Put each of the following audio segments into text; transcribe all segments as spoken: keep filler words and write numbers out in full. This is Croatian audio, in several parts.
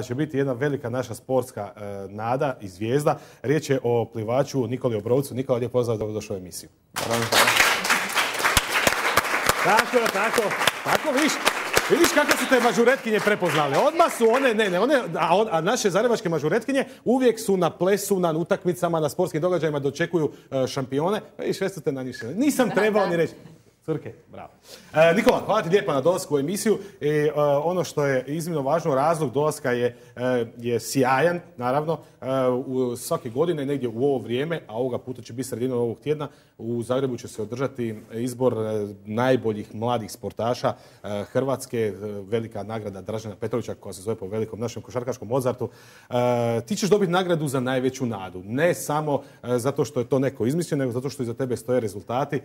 će biti jedna velika naša sportska nada i zvijezda. Riječ je o plivaču Nikoli Obrovcu. Nikola, lijep pozdrav, dobro došao u emisiju. Tako, tako, tako, vidiš, vidiš kako su te mažuretkinje prepoznale. Odmah su one, ne, ne, one, a, on, a naše zagrebačke mažuretkinje uvijek su na plesu, na utakmicama, na sportskim događajima, dočekuju uh, šampione. Vidiš, sve su te nanišene. Nisam trebao ni reći. Crke, bravo. E, Nikola, hvala ti lijepa na dolasku u emisiju. I, e, ono što je iznimno važno, razlog dolaska je, e, je sjajan, naravno. E, u, svake godine, negdje u ovo vrijeme, a ovoga puta će biti sredinom ovog tjedna, u Zagrebu će se održati izbor e, najboljih mladih sportaša e, Hrvatske, e, velika nagrada Dražena Petrovića, koja se zove po velikom našem košarkaškom Mozartu. E, ti ćeš dobiti nagradu za najveću nadu. Ne samo e, zato što je to neko izmislio, nego zato što iza tebe stoje rezultati. E,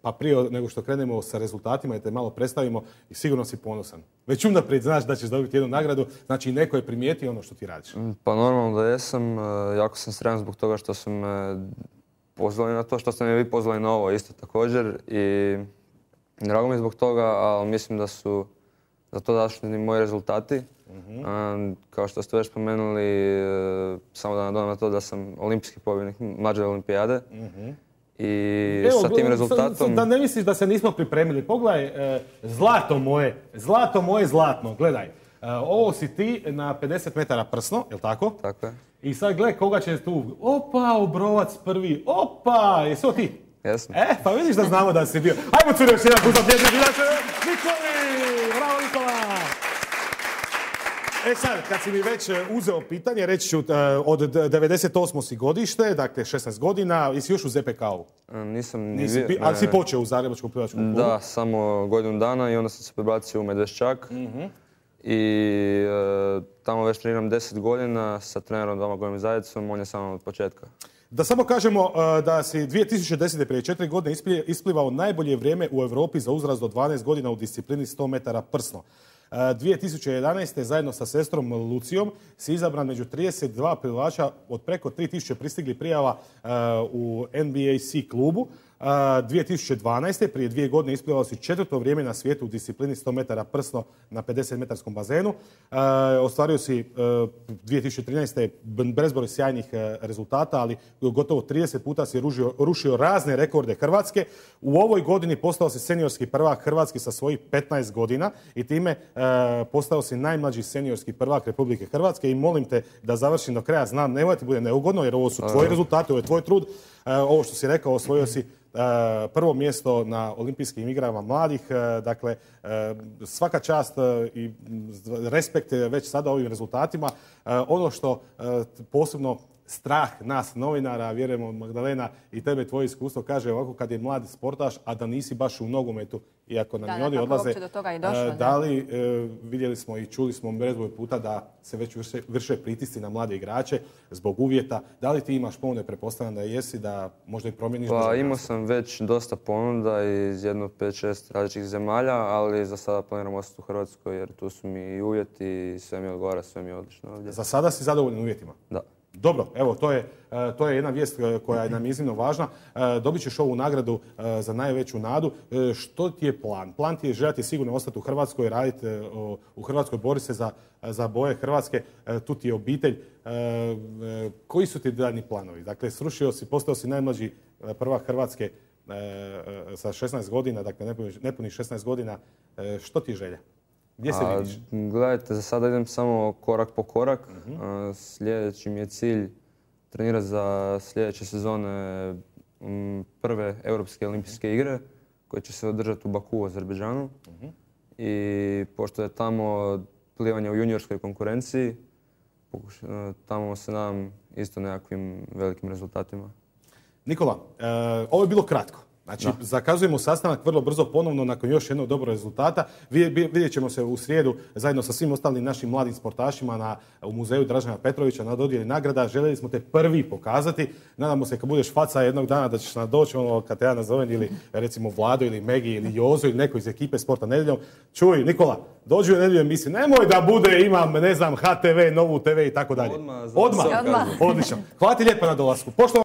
pa prije nego što krenemo sa rezultatima i te malo predstavimo, i sigurno si ponosan. Već unaprijed znaš da ćeš dobiti jednu nagradu, znači neko je primijetio ono što ti radiš. Pa normalno da jesam, jako sam sretan zbog toga što sam me pozvali na to, što ste me vi pozvali na ovo isto također i drago mi je zbog toga, ali mislim da su za to dašli moji rezultati. Uh-huh. Kao što ste već spomenuli, samo da nadodam na to da sam olimpijski pobjednik mlađe olimpijade. Uh-huh. I Evo, sa tim rezultatom... Da ne misliš da se nismo pripremili. Pogledaj, e, zlato moje, zlato moje zlatno, gledaj. E, ovo si ti na pedeset metara prsno, je li tako? Tako je. I sad gledaj koga će tu. Opa, Obrovac prvi. Opa, jesi ovo ti? Jesam. E, pa vidiš da znamo da si bio. Ajmo curi još jedan put za pjezni bilače. Nikoli! Bravo, Nikola! E sad, kad si mi već uzeo pitanje, reći ću od devedeset osme si godište, dakle šesnaest godina, jesi još u Z P K-u? Nisam ni Nisi, vi... Ali si počeo u Zagrebačkom plivačkom klubu? Da, samo godinu dana i onda sam se prebacio u Medveščak. Uh-huh. I e, tamo već treniram deset godina sa trenerom Domagojem Zajecom, on je samo od početka. Da samo kažemo uh, da si dvije tisuće desete prije četiri godine isplivao najbolje vrijeme u Europi za uzrast do dvanaest godina u disciplini sto metara prsno. dvije tisuće jedanaeste. zajedno sa sestrom Lucijom si izabran među trideset dva plivača od preko tri tisuće pristiglih prijava uh, u N B A C klubu. Uh, dvije tisuće dvanaeste. prije dvije godine isplivao si četvrto vrijeme na svijetu u disciplini sto metara prsno na pedeset metarskom bazenu. Uh, ostvario si uh, dvije tisuće trinaeste. bezbroj sjajnih uh, rezultata, ali gotovo trideset puta si ružio, rušio razne rekorde Hrvatske. U ovoj godini postao si seniorski prvak Hrvatske sa svojih petnaest godina i time uh, postao si najmlađi seniorski prvak Republike Hrvatske i molim te da završim do kraja. Znam, nemoj ti bude neugodno jer ovo su tvoji rezultati, ovo je tvoj trud. Uh, ovo što si rekao, osvojio si Uh, prvo mjesto na olimpijskim igrama mladih, uh, dakle uh, svaka čast uh, i respekt već sada ovim rezultatima. Uh, ono što uh, posebno strah nas novinara, vjerujemo Magdalena i tebe tvoje iskustvo kaže ovako kad je mladi sportaš, a da nisi baš u nogometu, iako nam i oni odlaze. Došlo, uh, da li, uh, vidjeli smo i čuli smo bezbroj puta da se već vrše, vrše pritisci na mlade igrače zbog uvjeta. Da li ti imaš ponude, pretpostavljam da jesi, da možda i promijeniš? Pa imao sam već dosta ponuda iz jedno pet šest različitih zemalja, ali za sada planiram ostati u Hrvatskoj jer tu su mi i uvjeti, sve mi odgovara, sve mi je odlično ovdje. Za sada si zadovoljan uvjetima? Da. Dobro, evo, to je, to je jedna vijest koja je nam iznimno važna. Dobit ćeš ovu nagradu za najveću nadu. Što ti je plan? Plan ti je željeti sigurno ostati u Hrvatskoj, raditi u Hrvatskoj, boriti se za, za boje Hrvatske. Tu ti je obitelj. Koji su ti daljnji planovi? Dakle, srušio si, postao si najmlađi prvak Hrvatske sa šesnaest godina, dakle nepunih šesnaest godina. Što ti je želja? Gdje se vidiš? Gledajte, za sada idem samo korak po korak. Uh-huh. Sljedeći mi je cilj trenirati za sljedeće sezone prve Europske olimpijske igre koje će se održati u Baku u Azerbejdžanu. Uh-huh. I pošto je tamo plivanje u juniorskoj konkurenciji, tamo se nadam isto nekakvim velikim rezultatima. Nikola, e, ovo je bilo kratko. Znači, da. Zakazujemo sastanak vrlo brzo ponovno nakon još jednog dobrog rezultata. Vidjet ćemo se u srijedu zajedno sa svim ostalim našim mladim sportašima na, u muzeju Dražena Petrovića na dodjeli nagrada. Željeli smo te prvi pokazati. Nadamo se kad budeš faca jednog dana da ćeš nam doći ono kad te ja nazovem ili recimo Vlado ili Megi ili Jozo ili neko iz ekipe Sporta nedjeljom. Čuj, Nikola, dođi u nedjelju emisiju. Nemoj da bude, imam, ne znam, H T V, Novu T V i tako dalje. Odmah. Odmah. Odlično. Hvala ti lijepo na dolasku. Pošto